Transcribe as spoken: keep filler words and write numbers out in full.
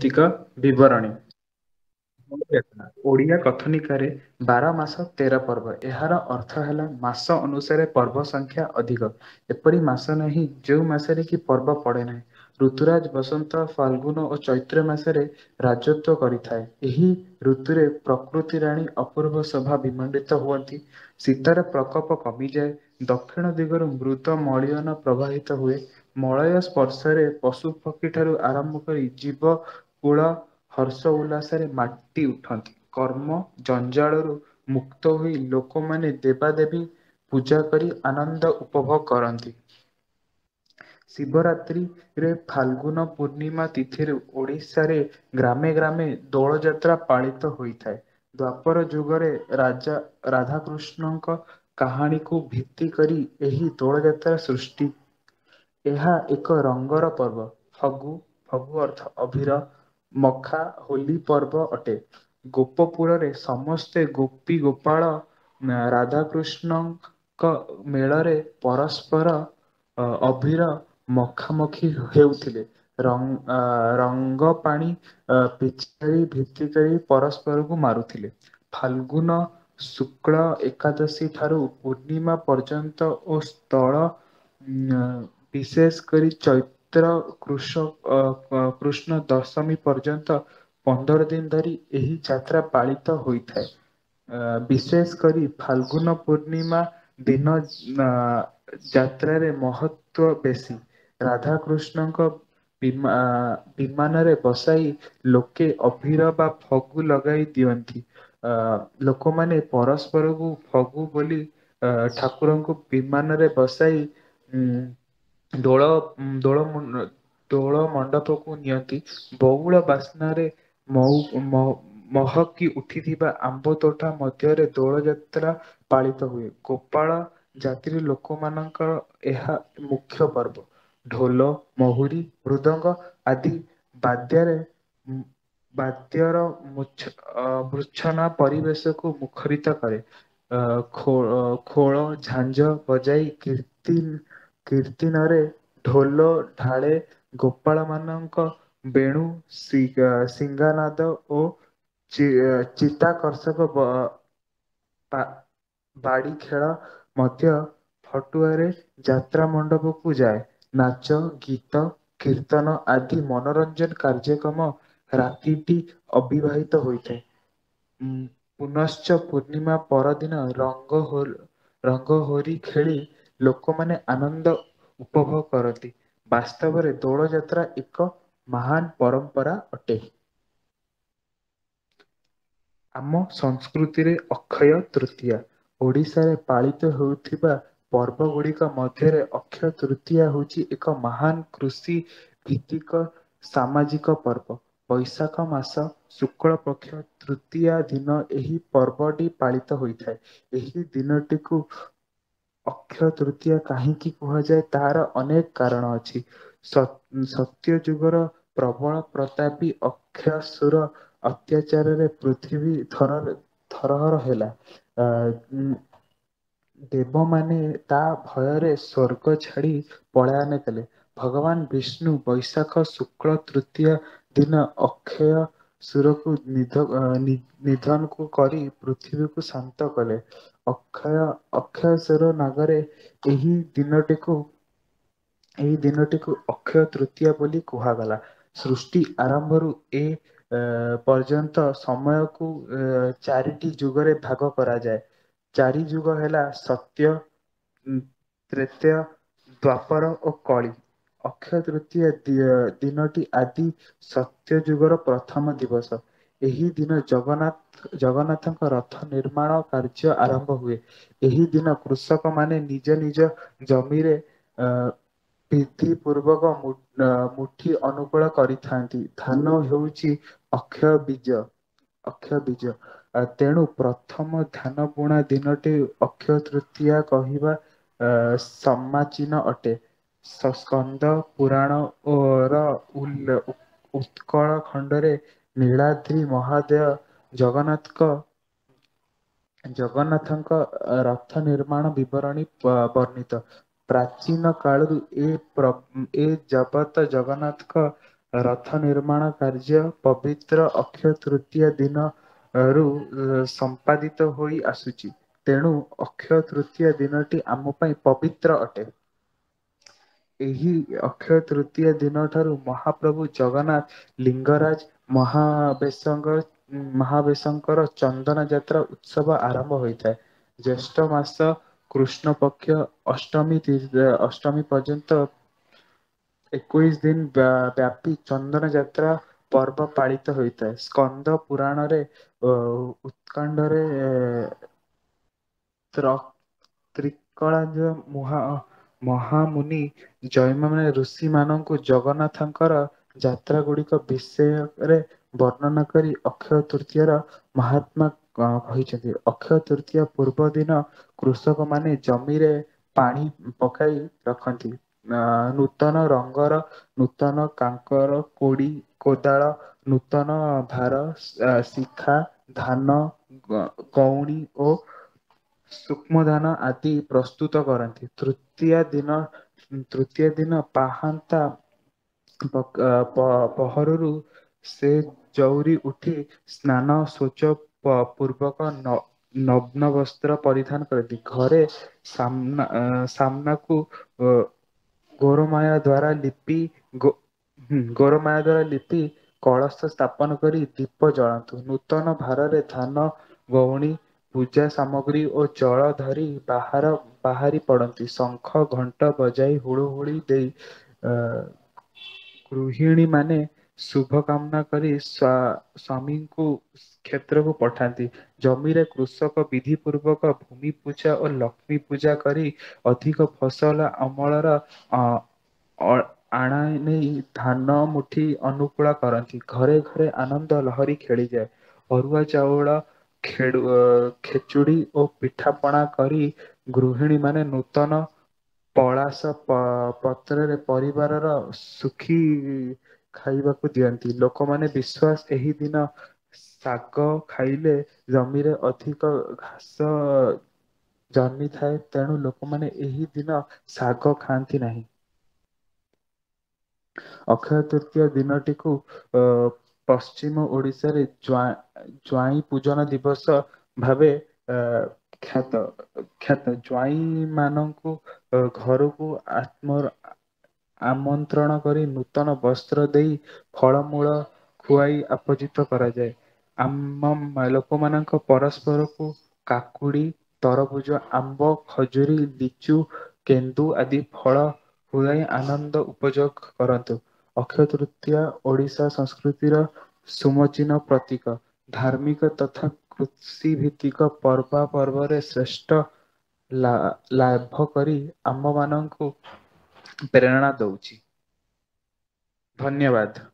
ତିକ ବିବରଣୀ। ଓଡ଼ିଆ କଥନିକାରେ ବାର ମାସ ତେର ପର୍ବ। ଏହାର ଅର୍ଥ ହେଲା ମାସ ଅନୁସାରେ ପର୍ବ ସଂଖ୍ୟା ଅଧିକ। ଏପରି ମାସ ନାହିଁ ଯେଉଁ ମାସରେ କି ପର୍ବ ପଡ଼େ ନାହିଁ। ଋତୁରାଜ ବସନ୍ତ, ଫାଲଗୁନ ଓ ଚୈତ୍ର ମାସରେ ରାଜତ୍ୱ କରିଥାଏ। ଏହି ଋତୁରେ ପ୍ରକୃତି ରାଣୀ ଅପୂର୍ବ ଶୋଭା ବିମଣ୍ଡିତ ହୁଅନ୍ତି। ଶୀତର ପ୍ରକୋପ କମିଯାଏ। ଦକ୍ଷିଣ ଦିଗରୁ ମୃତ ମଳିୟନ ପ୍ରବାହିତ ହୁଏ। ମଳୟ ସ୍ପର୍ଶରେ ପଶୁପକ୍ଷୀ ଠାରୁ ଆରମ୍ଭ କରି ଜୀବ କୂଳ ହର୍ଷ ଉଲ୍ଲାସରେ ମାଟି ଉଠନ୍ତି। କର୍ମ ଜଞ୍ଜାଳରୁ ମୁକ୍ତ ହୋଇ ଲୋକମାନେ ଦେବା ଦେବୀ ପୂଜା କରି ଆନନ୍ଦ ଉପଭୋଗ କରନ୍ତି। ଶିବରାତ୍ରି ରେ ଫାଲଗୁନ ପୂର୍ଣ୍ଣିମା ତିଥିରୁ ଓଡିଶାରେ ଗ୍ରାମେ ଗ୍ରାମେ ଦୋଳ ଯାତ୍ରା ପାଳିତ ହୋଇଥାଏ। ଦ୍ୱାପର ଯୁଗରେ ରାଜା ରାଧାକୃଷ୍ଣଙ୍କ କାହାଣୀକୁ ଭିତ୍ତି କରି ଏହି ଦୋଳ ଯାତ୍ରା ସୃଷ୍ଟି। ଏହା ଏକ ରଙ୍ଗର ପର୍ବ। ଫଗୁ ଫଗୁ ଅର୍ଥ ଅଭିର। ମଖା ହୋଲି ପର୍ବ ଅଟେ। ଗୋପପୁରରେ ସମସ୍ତେ ଗୋପୀ ଗୋପାଳ ରାଧାକୃଷ୍ଣ ଙ୍କ ମେଳରେ ପରସ୍ପର ଅ ଅଭିର ମଖାମଖି ହେଉଥିଲେ। ର ରଙ୍ଗ ପାଣି ଅ ପିଚକାରୀ ଭିତିକରି ପରସ୍ପରକୁ ମାରୁଥିଲେ। ଫାଲଗୁନ ଶୁକ୍ଳ ଏକାଦଶୀ ଠାରୁ ପୂର୍ଣ୍ଣିମା ପର୍ଯ୍ୟନ୍ତ ଓ ସ୍ଥଳ ଉ ବିଶେଷ କରି ଚୈତ୍ର କୃଷ ଅ କୃଷ୍ଣ ଦଶମୀ ପର୍ଯ୍ୟନ୍ତ ପନ୍ଦର ଦିନ ଧରି ଏହି ଯାତ୍ରା ପାଳିତ ହୋଇଥାଏ। ଅ ବିଶେଷ କରି ଫାଲଗୁନ ପୂର୍ଣ୍ଣିମା ଦିନ ଯାତ୍ରାରେ ମହତ୍ଵ ବେଶୀ। ରାଧାକୃଷ୍ଣଙ୍କ ବିମା ବିମାନରେ ବସାଇ ଲୋକେ ଅଭିର ବା ଫଗୁ ଲଗାଇ ଦିଅନ୍ତି। ଅ ଲୋକମାନେ ପରସ୍ପରକୁ ଫଗୁ ବୋଲି ଅ ଠାକୁରଙ୍କୁ ବିମାନରେ ବସାଇ ଉ ଦୋଳ ଦୋଳ ମୁ ଦୋଳ ମଣ୍ଡପକୁ ନିଅନ୍ତି। ବଉଳ ବାସ୍ନାରେ ମହୁ ମହକି ଉଠିଥିବା ଆମ୍ବ ତୋଟା ମଧ୍ୟରେ ଦୋଳ ଯାତ୍ରା ପାଳିତ ହୁଏ। ଗୋପାଳ ଜାତିର ଲୋକମାନଙ୍କର ଏହା ମୁଖ୍ୟ ପର୍ବ। ଢୋଲ ମହୁୁରୀ ମୃଦଙ୍ଗ ଆଦି ବାଦ୍ୟରେ ବାଦ୍ୟର ମୁଛ ମୂର୍ଚ୍ଛନା ପରିବେଶକୁ ମୁଖରିତ କରେ। ଅ ଖୋ ଖୋଳ ଝାଞ୍ଜ ବଜାଇ କୀର୍ତ୍ତି କୀର୍ତ୍ତିନରେ ଢୋଲ ଢାଳେ ଗୋପାଳ ମାନଙ୍କ ବେଣୁ ସିଙ୍ଗାନାଦ ଓ ଚିତା କର୍ଷକ ବା ବାଡ଼ି ଖେଳ ମଧ୍ୟ ଫଟୁଆରେ ଯାତ୍ରା ମଣ୍ଡପକୁ ଯାଏ। ନାଚ ଗୀତ କୀର୍ତ୍ତନ ଆଦି ମନୋରଞ୍ଜନ କାର୍ଯ୍ୟକ୍ରମ ରାତିଟି ଅବିବାହିତ ହୋଇଥାଏ। ଉ ପୁନଶ୍ଚ ପୂର୍ଣ୍ଣିମା ପରଦିନ ରଙ୍ଗ ହୋ ରଙ୍ଗ ହୋରି ଖେଳି ଲୋକମାନେ ଆନନ୍ଦ ଉପଭୋଗ କରନ୍ତି। ବାସ୍ତବରେ ଦୋଳ ଯାତ୍ରା ଏକ ମହାନ ପରମ୍ପରା ଅଟେ। ଆମ ସଂସ୍କୃତିରେ ଅକ୍ଷୟ ତୃତୀୟା ଓଡିଶାରେ ପାଳିତ ହେଉଥିବା ପର୍ବ ଗୁଡିକ ମଧ୍ୟରେ ଅକ୍ଷୟ ତୃତୀୟା ହଉଛି ଏକ ମହାନ କୃଷି ଭିତ୍ତିକ ସାମାଜିକ ପର୍ବ। ବୈଶାଖ ମାସ ଶୁକ୍ଳ ପକ୍ଷ ତୃତୀୟା ଦିନ ଏହି ପର୍ବଟି ପାଳିତ ହୋଇଥାଏ। ଏହି ଦିନଟିକୁ ଅକ୍ଷୟ ତୃତୀୟା କାହିଁକି କୁହାଯାଏ ତାହାର ଅନେକ କାରଣ ଅଛି। ସତ୍ୟ ଯୁଗର ପ୍ରବଳ ପ୍ରତାପୀ ଅକ୍ଷସୁର ଅତ୍ୟାଚାରରେ ପୃଥିବୀ ଥର ଥରହର ହେଲା। ଅ ଉ ଦେବମାନେ ତା ଭୟରେ ସ୍ଵର୍ଗ ଛାଡି ପଳାୟନ କଲେ। ଭଗବାନ ବିଷ୍ଣୁ ବୈଶାଖ ଶୁକ୍ଳ ତୃତୀୟ ଦିନ ଅକ୍ଷୟ ସୁରକୁ ନିଧ ନିଧନକୁ କରି ପୃଥିବୀକୁ ଶାନ୍ତ କଲେ। ଅକ୍ଷୟ ଅକ୍ଷୟସୁର ନାଗରେ ଏହି ଦିନଟିକୁ ଏହି ଦିନଟିକୁ ଅକ୍ଷୟ ତୃତୀୟା ବୋଲି କୁହାଗଲା। ସୃଷ୍ଟି ଆରମ୍ଭରୁ ଏ ଅ ପର୍ଯ୍ୟନ୍ତ ସମୟକୁ ଚାରିଟି ଯୁଗରେ ଭାଗ କରାଯାଏ। ଚାରି ଯୁଗ ହେଲା ସତ୍ୟ, ତ୍ରେତୟ, ଦ୍ୱାପର ଓ କଳି। ଅକ୍ଷୟ ତୃତୀୟା ଦିନଟି ଆଦି ସତ୍ୟ ଯୁଗର ପ୍ରଥମ ଦିବସ। ଏହି ଦିନ ଜଗନ୍ନାଥ ଜଗନ୍ନାଥଙ୍କ ରଥ ନିର୍ମାଣ କାର୍ଯ୍ୟ ଆରମ୍ଭ ହୁଏ। ଏହି ଦିନ କୃଷକ ମାନେ ନିଜ ନିଜ ଜମିରେ ଅ ପିଧି ପୂର୍ବକ ମୁଠି ଅନୁକୂଳ କରିଥାନ୍ତି। ଧାନ ହେଉଛି ଅକ୍ଷୟ ବୀଜ ଅକ୍ଷୟ ବୀଜ। ତେଣୁ ପ୍ରଥମ ଧାନ ବୁଣା ଦିନଟି ଅକ୍ଷୟ ତୃତୀୟା କହିବା ଅ ସମାଚୀନ ଅଟେ। ସସ୍କନ୍ଦ ପୁରାଣ ଓ ର ଉ ଉତ୍କଳ ଖଣ୍ଡରେ ନୀଳାଦ୍ରି ମହାଦେୟ ଜଗନ୍ନାଥଙ୍କ ଜଗନ୍ନାଥଙ୍କ ରଥ ନିର୍ମାଣ ବିବରଣୀ ବର୍ଣ୍ଣିତ। ପ୍ରାଚୀନ କାଳରୁ ଏ ପ୍ର ଏ ଜଗତ ଜଗନ୍ନାଥଙ୍କ ରଥ ନିର୍ମାଣ କାର୍ଯ୍ୟ ପବିତ୍ର ଅକ୍ଷୟ ତୃତୀୟା ଦିନ ରୁ ସମ୍ପାଦିତ ହୋଇ ଆସୁଛି। ତେଣୁ ଅକ୍ଷୟ ତୃତୀୟା ଦିନଟି ଆମ ପାଇଁ ପବିତ୍ର ଅଟେ। ଏହି ଅକ୍ଷୟ ତୃତୀୟା ଦିନ ଠାରୁ ମହାପ୍ରଭୁ ଜଗନ୍ନାଥ ଲିଙ୍ଗରାଜ ମହାବେଶଙ୍କ ମହାବେଶଙ୍କର ଚନ୍ଦନ ଯାତ୍ରା ଉତ୍ସବ ଆରମ୍ଭ ହୋଇଥାଏ। ଜ୍ୟେଷ୍ଠ ମାସ କୃଷ୍ଣ ପକ୍ଷ ଅଷ୍ଟମୀ ଅଷ୍ଟମୀ ପର୍ଯ୍ୟନ୍ତ ଏକୋଇଶି ଦିନ ବ୍ୟାପି ଚନ୍ଦନ ଯାତ୍ରା ପର୍ବ ପାଳିତ ହୋଇଥାଏ। ସ୍କନ୍ଦ ପୁରାଣରେ ଅ ଉତ୍କଣ୍ଡରେ ତ୍ର ତ୍ରିକଳା ମୁହା ମହାମୁନି ଜୈନ ମାନ ଋଷି ମାନଙ୍କୁ ଜଗନ୍ନାଥଙ୍କର ଯାତ୍ରା ଗୁଡିକ ବିଷୟରେ ବର୍ଣ୍ଣନା କରି ଅକ୍ଷୟ ତୃତୀୟ ର ମହାତ୍ମା କହିଛନ୍ତି। ଅକ୍ଷୟ ତୃତୀୟ ପୂର୍ବ ଦିନ କୃଷକ ମାନେ ଜମିରେ ପାଣି ପକାଇ ରଖନ୍ତି। ଅ ନୂତନ ରଙ୍ଗର ନୂତନ କାଙ୍କର କୋଡି କୋଦାଳ ନୂତନ ଭାର ଶିଖା ଧାନ ଗଉଣୀ ଓ ସୂକ୍ଷ୍ମଧାନ ଆଦି ପ୍ରସ୍ତୁତ କରନ୍ତି। ତୃତୀୟ ଦିନ ତୃତୀୟ ଦିନ ପାହାନ୍ତା ପହରରୁ ସେ ଚଉରି ଉଠି ସ୍ନାନ ଶୌଚ ପୂର୍ବକ ନଗ୍ନ ବସ୍ତ୍ର ପରିଧାନ କରନ୍ତି। ଘରେ ସାମ୍ନା ସାମ୍ନାକୁ ଅ ଗୋରୁମାୟା ଦ୍ଵାରା ଲିପି ଗୋ ହୁଁ ଗୋରମାୟା ଦ୍ଵାରା ଲିପି କଳସ ସ୍ଥାପନ କରି ଦୀପ ଜଳାନ୍ତୁ। ନୂତନ ଭାରରେ ଧାନ ଗଉଣୀ ପୂଜା ସାମଗ୍ରୀ ଓ ଜଳ ଧରି ବାହାର ବାହାରି ପଡନ୍ତି। ଶଙ୍ଖ ଘଣ୍ଟ ବଜାଇ ହୁଳୁ ହୁଳି ଦେଇ ଅ ଗୃହିଣୀ ମାନେ ଶୁଭ କାମନା କରି ସ ସ୍ଵାମୀଙ୍କୁ କ୍ଷେତ୍ରକୁ ପଠାନ୍ତି। ଜମିରେ କୃଷକ ବିଧି ପୂର୍ବକ ଭୂମି ପୂଜା ଓ ଲକ୍ଷ୍ମୀ ପୂଜା କରି ଅଧିକ ଫସଲ ଅମଳର ଅ ଅ ଆଣ ନେଇ ଧାନ ମୁଠି ଅନୁକୂଳ କରନ୍ତି। ଘରେ ଘରେ ଆନନ୍ଦ ଲହରୀ ଖେଳିଯାଏ। ଅରୁଆ ଚାଉଳ ଖେଡୁ ଖେଚୁଡି ଓ ପିଠା ପଣା କରି ଗୃହିଣୀ ମାନେ ନୂତନ ପଳାସ ପ ପତ୍ରରେ ପରିବାରର ସୁଖୀ ଖାଇବାକୁ ଦିଅନ୍ତି। ଲୋକମାନେ ବିଶ୍ଵାସ ଏହି ଦିନ ଶାଗ ଖାଇଲେ ଜମିରେ ଅଧିକ ଘାସ ଜନ୍ମିଥାଏ, ତେଣୁ ଲୋକମାନେ ଏହି ଦିନ ଶାଗ ଖାଆନ୍ତି ନାହିଁ। ଅକ୍ଷୟ ତୃତୀୟ ଦିନଟିକୁ ଅ ପଶ୍ଚିମ ଓଡିଶାରେ ଜ୍ୱାଇଁ ପୂଜନ ଦିବସ ଭାବେ ଅ ଖ୍ୟାତ ଖ୍ୟାତ ଜ୍ୱାଇଁ ମାନଙ୍କୁ ଘରକୁ ଆତ୍ମର ଆମନ୍ତ୍ରଣ କରି ନୂତନ ବସ୍ତ୍ର ଦେଇ ଫଳମୂଳ ଖୁଆଇ ଆପୋଜିତ କରାଯାଏ। ଆମ ଲୋକମାନଙ୍କ ପରସ୍ପରକୁ କାକୁଡି ତରଭୁଜ ଆମ୍ବ ଖଜୁରୀ ଲିଚୁ କେନ୍ଦୁ ଆଦି ଫଳ ପୁଳାଇ ଆନନ୍ଦ ଉପଯୋଗ କରନ୍ତୁ। ଅକ୍ଷୟ ତୃତୀୟା ଓଡିଶା ସଂସ୍କୃତିର ସୁମଚିହ୍ନ ପ୍ରତୀକ। ଧାର୍ମିକ ତଥା କୃଷି ଭିତ୍ତିକ ପର୍ବା ପର୍ବରେ ଶ୍ରେଷ୍ଠ ଲା ଲାଭ କରି ଆମ ମାନଙ୍କୁ ପ୍ରେରଣା ଦଉଛି। ଧନ୍ୟବାଦ।